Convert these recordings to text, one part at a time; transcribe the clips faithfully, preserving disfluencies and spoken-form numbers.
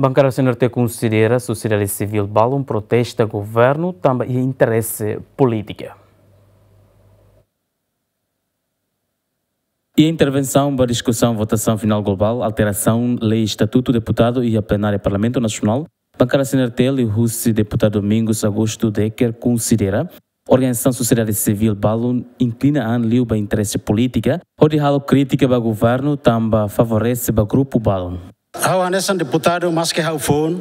Bankada C N R T konsidera sosiedade sivíl balun protesta governu tanba iha interese polítika. Iha intervensaun ba diskusaun votasaun finál globál alterasaun lei estatutu deputadu iha plenária Parlamentu Nasionál, bankada C N R T liuhusi deputadu Domingos Augusto Decker konsidera organizasaun sosiedade sivíl balun inklina an liu ba interese polítika, hodi halo krítika ba governu tanba favorese ba grupu balun. Ha'u hanesan deputadu, maske ha'u foun,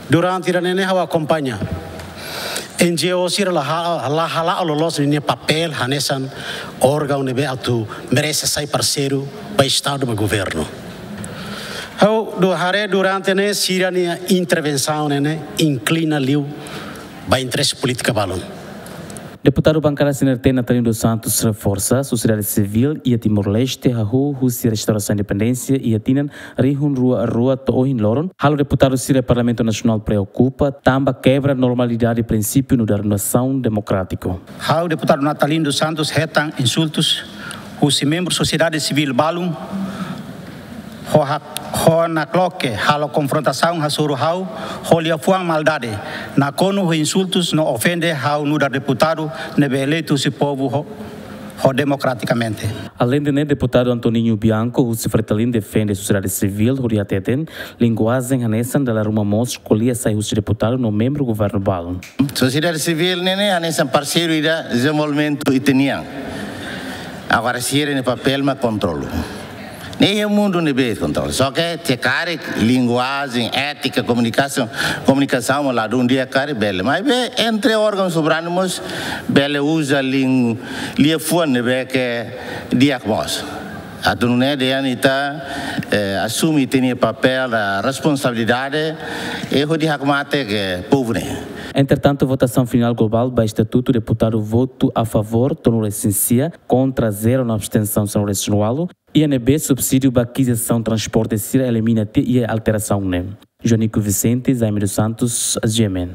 durante ida-ne'e ne'e ha'u akompaña N G O sira la ha-, la hala'o loloos ninia papél hanesan órgaun ne'ebé atu merese sai parseiru ba Estadu, ba governu. Ha'u haree durante ne'e sira-nia intervensaun ne'e ne'e inklina liu ba interese polítika balun. Deputadu bankada C N R T Natalino dos Santos reforsa, sosiedade sivíl iha Timor-Leste hahú husi restaurasaun independénsia iha tinan rihun rua rua to'o ohin loron, halo deputadu sira Parlamentu Nasionál preokupa tanba kebra normalidade prinsípiu nu'udar nasaun demokrátiku. Ha'u deputadu Natalino dos Santos hetan insultus husi membru sosiedade sivíl balun, ho hak-, ho nakloke halo konfrontasaun hasoru ha'u ho liafuan maldade, nakonu ho insultus no ofende ha'u nu'udar deputadu ne'ebé eleitu husi povu ho, ho demokratikamente. Aleinde ne'e, deputadu Antoninho Bianco husi Fretilin defende sosiedade sivíl hodi hateten linguajen hanesan dala ruma mós ko'alia sai husi deputadu no membru governu balun. Sosiedade sivíl ne'e ne'e hanesan parseiru ida dezenvolvimentu ita-nian. Agora sira-nia papél mak kontrolu. Ne'e iha mundu ne'ebé kontrolu. Só ke se karik linguajen, étika, komunikasaun, komunikasaun mak ladún di'ak karik bele. Maibé entre órgaun soberanu mós bele uza lin-, liafuan ne'ebé ke di'ak mós. Atu nune'e dehan ita, eh, asume ita-nia papél, eh, responsabilidade, eh, hodi hakmatek povu ne'e. Entretantu, votasaun finál globál ba estatutu, deputadu votu a favór tolu resin sia, kontra zero no abstensaun sanulu resin ualu, iha ne'ebé subsídiu ba akizisaun transporte sira elimina tiha iha alterasaun ne'e. Joanico Vicente, Jaime dos Santos, G M N.